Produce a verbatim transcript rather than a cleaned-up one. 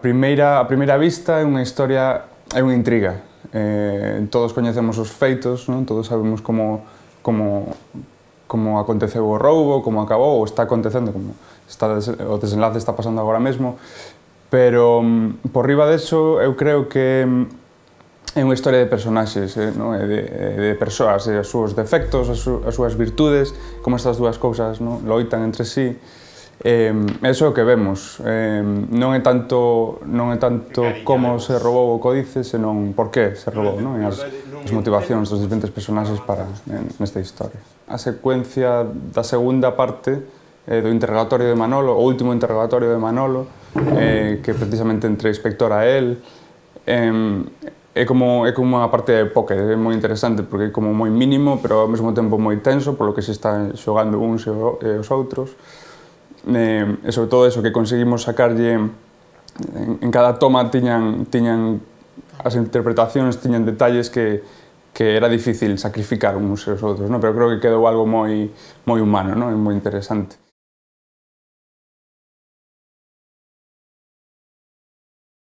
primeira, a primeira vista é unha historia, é unha intriga. Eh, todos coñecemos os feitos, non? Todos sabemos como, como, como aconteceu o roubo, como acabou, ou está acontecendo, como está, o desenlace está pasando agora mesmo, pero por riba deso eu creo que é unha historia de personaxes, eh, non? de, de persoas, e os seus defectos, as, su, as súas virtudes, como estas dúas cousas, non? Loitan entre sí. Eh, eso é o que vemos, eh, non é tanto, non é tanto como se roubou o códice, senón por que se roubou, non? E as, as motivacións dos diferentes personaxes para nesta historia. A secuencia da segunda parte eh, do interrogatorio de Manolo, o último interrogatorio de Manolo, eh, que precisamente entre a inspectora e el, eh, é como, é como unha parte de póker, é moi interesante porque é como moi mínimo, pero ao mesmo tempo moi tenso, polo que se están xogando uns e os outros. Eh, e sobre todo eso, que conseguimos sacarlle en, en cada toma tiñan, tiñan as interpretacións, tiñan detalles que, que era difícil sacrificar uns e os outros, non? Pero creo que quedou algo moi, moi humano, non? E moi interesante.